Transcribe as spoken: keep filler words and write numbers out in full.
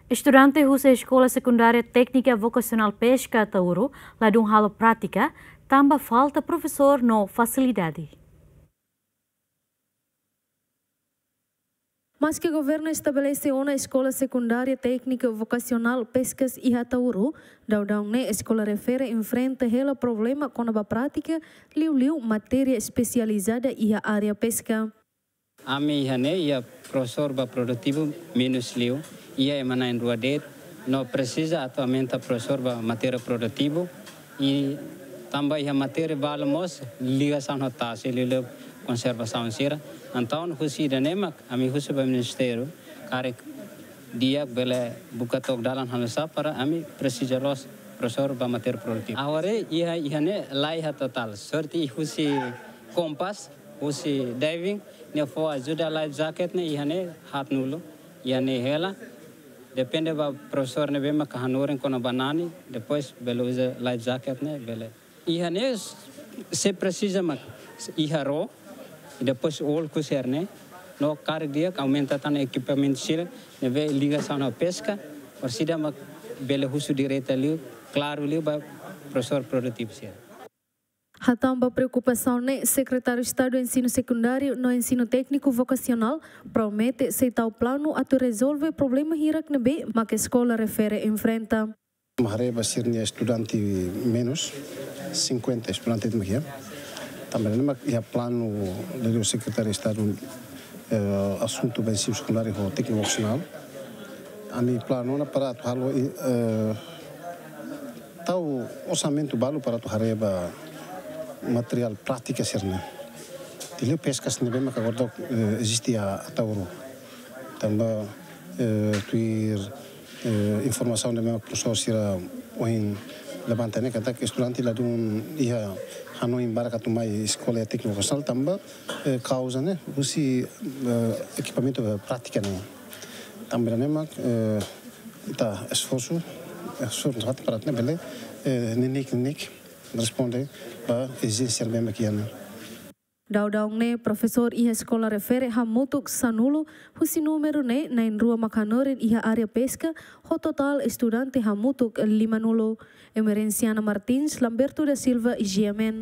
Estudante husi Eskola Sekundária Téknika Vokasionál Peska Ataúro ladún halo prátika, tanba falta profesór no fasilidade. Maske governu estabelese ona Eskola Sekundária Téknika Vokasionál Peskas iha Ataúro, daudaun ne'e eskola refere enfrenta hela problema kona-ba prátika, liuliu matéria espesializada iha área peska. Ami iha ne'e iha profesór ba produtivu menus liu, iha ema na'in-rua de'it, no presiza atu aumenta profesór ba matéria produtivu, i tanba iha matéria balu mós ligasaun ho tasi, liuliu konservasaun sira. Entaun husi ida-ne'e mak ami husu ba ministériu, karik di'ak bele buka took dalan halo sá para ami presiza loos profesór ba matéria produtivu. Agora iha, iha ne'e laiha totál. Sorte husi Compass, husi diving, nia fó ajuda life jacket ne'e iha ne'e haatnulu, iha ne'e hela. Depende ba profesór ne'ebé maka hanorin kona-ba nani, depois bele uza life jacket ne'e bele. Iha ne'e se presiza mak iha ró, i depois ulku sira-ne'e, no karik di'ak aumenta tan ekipamentu sira ne'ebé ligasaun ho peska, orsida mak bele husu direta liu, klaru liu ba profesór produtivu sira. Hatán ba preokupasaun ne'e, Sekretáriu Estadu Ensinu Sekundáriu no Ensinu Tékniku Vokasionál promete sei tau planu atu rezolve problema hirak ne'ebé mak eskola refere enfrenta. Mak haree ba sira-nia estudante menus, cinquenta estudante mak iha. Tanba ne'e mak iha planu dari Sekretáriu Estadu, eh, Asuntu ba Ensinu Sekundáriu ho Tékniku Vokasionál. Ami planu ona para atu halo, eh, tau orsamentu balu para atu haree ba materiál prátika sira-ne'e. Liuliu peskas ne'ebé maka agora, eh, eziste iha Ataúro. Tanba, eh, tuir, eh, informasaun ne'ebé maka profesór sira ohin levanta ne'e katak estudante ladún iha hanoin barak atu mai eskola tékniku vokasionál tanba, eh, kauza ne'e husi, eh, ekipamentu prátika ne'e. Tanba ne'e mak, eh, ita esforsu, esforsu atu para ne'e bele, eh, neineik-neineik responde ba ezijénsia ne'ebé mak iha ne'e. Daudaun ne'e profesór iha eskola refere hamutuk sanulu, husi númeru ne'e na'in-rua mak hanorin iha área peska, ho totál estudante hamutuk limanulu. Emerenciana Martins, Lamberto da Silva, G M N.